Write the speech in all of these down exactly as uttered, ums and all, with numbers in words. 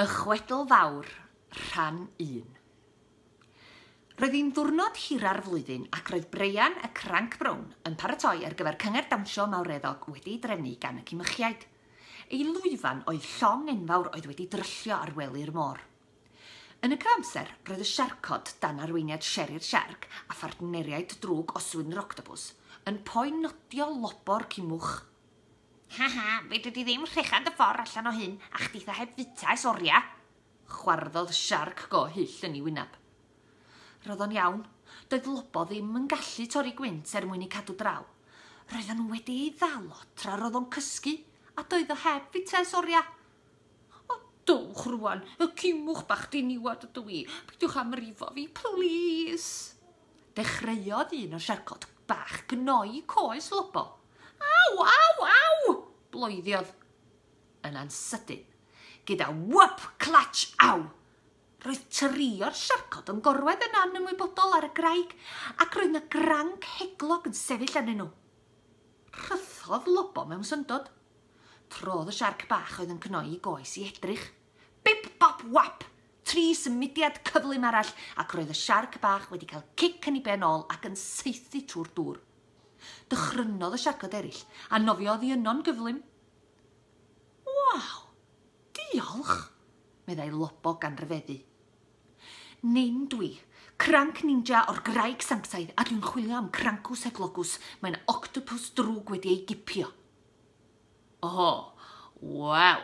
Y Chwedl Fawr, Rhan un. Roedd hi'n ddiwrnod hira'r flwyddyn ac roedd Breian y Cranc Brown yn paratoi ar gyfer cyngerdd dawnsio mawreddog wedi'i drefnu gan y cimychiaid. Ei lwyfan oedd llong enfawr oedd wedi dryllio ar wely'r môr. Yn y cyfamser, roedd y siarcod dan arweiniad Sherry'r Siarc a phartneriaid drwg Oswyn yr Octopws yn poenodio Lobo'r cimwch. Ha ha, fedri di ddim rhechan dy ffordd allan o hyn a chditha heb fwyta ers oria. Chwarddodd siarc go hyll yn ei wyneb. Roedd o'n iawn, doedd Lobo ddim yn gallu torri gwynt er mwyn ei cadw draw. Roedden nhw wedi ei ddal o tra roedd o'n cysgu, a doedd o heb fwyta ers oria. O, dowch rwan, y cimwch bach diniwad ydw i. Peidiwch â mrifo fi, plîs. Dechreuodd un o'r siarcod bach gnoi coes Lobo. Aw, aw, aw! Bloeddiodd. Yna'n sydyn, gyda whoop, clatch, aw! Roedd tri o'r siarcod yn gorwedd yn anymwybodol ar y graig ac roedd 'na granc heglog yn sefyll arnyn nhw. Rhythodd Lobo mewn syndod. Trodd y siarc bach oedd yn cnoi i goes i edrych. Bip, bop, wap! Tri symudiad cyflym arall ac roedd y siarc bach wedi cael cic yn ei ben ôl ac yn saethu trwy'r dŵr. Dychrynodd y siarcod eraill a nofiodd i yno'n gyflym. Waw, diolch, meddai Lobo gan ryfeddu. Nin dwi, cranc ninja o'r graig sanctaidd, a dwi'n chwilio am Crancws Heglogws. Mae'n octopus drwg wedi ei gipio. O, waw,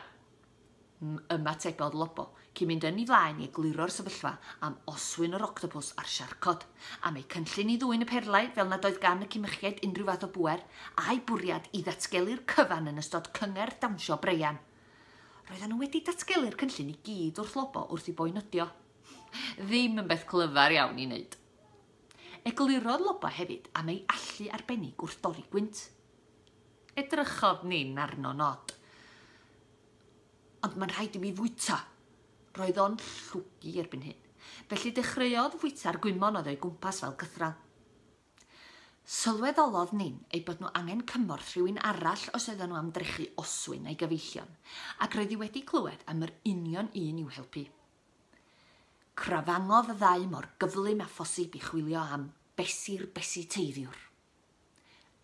ymatebodd Lobo, cyn mynd yn ei flaen i egluro'r sefyllfa am Oswyn yr octopus a'r siarcod, am eu cynllun i ddwyn y perlau fel nad oedd gan y cimychiaid unrhyw fath o bŵer, a'i bwriad i ddatgelu'r cyfan yn ystod cyngerdd dawnsio Breian. Roedden nhw wedi datgelu'r cynllun i gyd wrth Lobo wrth i boenydio. Ddim yn beth clyfar iawn i wneud. Eglurodd Lobo hefyd am ei allu arbennig wrth dorri gwynt. Edrychodd Nin arno nod. Ond mae'n rhaid i mi fwyta. Roedd o'n llwgu erbyn hyn. Felly dechreuodd fwyta'r gwymon oedd o'i gwmpas fel cythral. Sylweddolodd Nin eu bod nhw angen cymorth rhywun arall os oedden nhw am drechu Oswyn a'i gyfeillion, ac roedd hi wedi clywed am yr union un i'w helpu. Crafangodd y ddau mor gyflym â phosib i chwilio am Besi'r Besi Teiddiwr.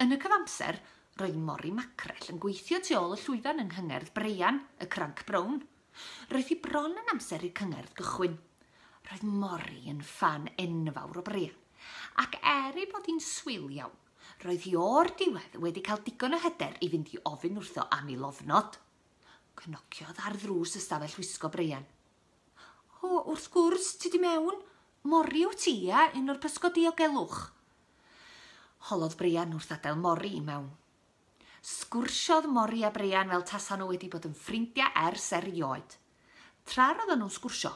Yn y cyfamser, roedd Mori Macrell yn gweithio tu ôl y llwyfan yng nghyngerdd Breian, y Cranc Brown. Roedd hi bron yn amser i'r cyngerdd gychwyn. Roedd Mori yn ffan enfawr o Breian, ac er ei bod hi'n swil iawn, roedd hi o'r diwedd wedi cael digon o hyder i fynd i ofyn wrtho am ei lofnod. Cnociodd ar ddrws ystafell wisgo Breian. O, wrth gwrs, ti di mewn. Mori wyt ti, ia, un o'r pysgod diogelwch. Holodd Breian wrth adael Mori i mewn. Sgwrsiodd Mori a Breian fel tasa nhw wedi bod yn ffrindiau ers erioed. Tra roedden nhw'n sgwrsio,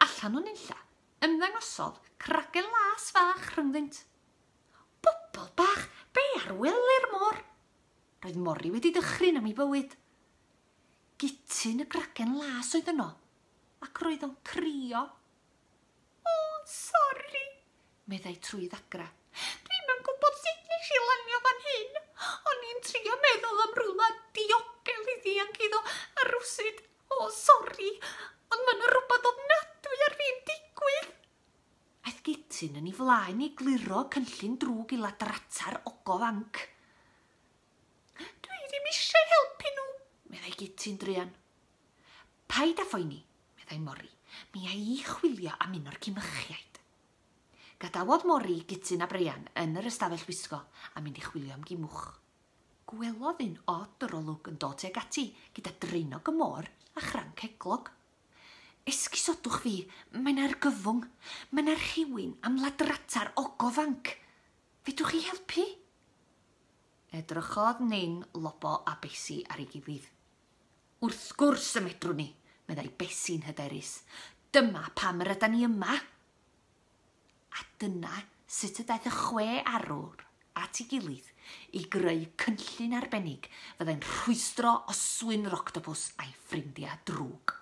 allan o'n unlla, ymddangosodd cragen las fach rhyngddynt. Bobl bach, be ar wely'r môr? Roedd Mori wedi dychryn am ei bywyd. Gutyn y gragen las oedd yno, ac roedd o'n crio. O, sori, meddai trwy ddagra. Dwi'm yn gwybod sut nes i lanio fan hyn. O'n i'n trio meddwl am rywle diogel i ddianc iddo, a rywsut, o, sori, ond mae yna rhywbeth ofnadwy ar fin digwydd. Aeth Gutyn yn ei flaen i gliro cynllun drwg i ladrata'r ogof anc. Dwi ddim eisiau helpu nhw, meddai Gutyn druan. Paid â phoeni, meddai Mori, mi a i chwilio am un o'r cimychiaid. Gadawodd Mori, Gutyn a Breian yn yr ystafell wisgo a mynd i chwilio am gimwch. Gwelodd un od yr olwg yn dod tuag ati gyda draenog y môr a chranc heglog. Esgusodwch fi, mae'n argyfwng. Mae 'na rhywun am ladrata'r ogof anc. Fedrwch chi helpu? Edrychodd Nin, Lobo a Besi ar ei gilydd. Wrth gwrs y medrwn ni, meddai Besi'n hyderus. Dyma pam yr ydan ni yma. A dyna sut y daeth y chwe arwr at ei gilydd i greu cynllun arbennig fyddai'n rhwystro Oswyn yr octopws a'i ffrindiau drwg.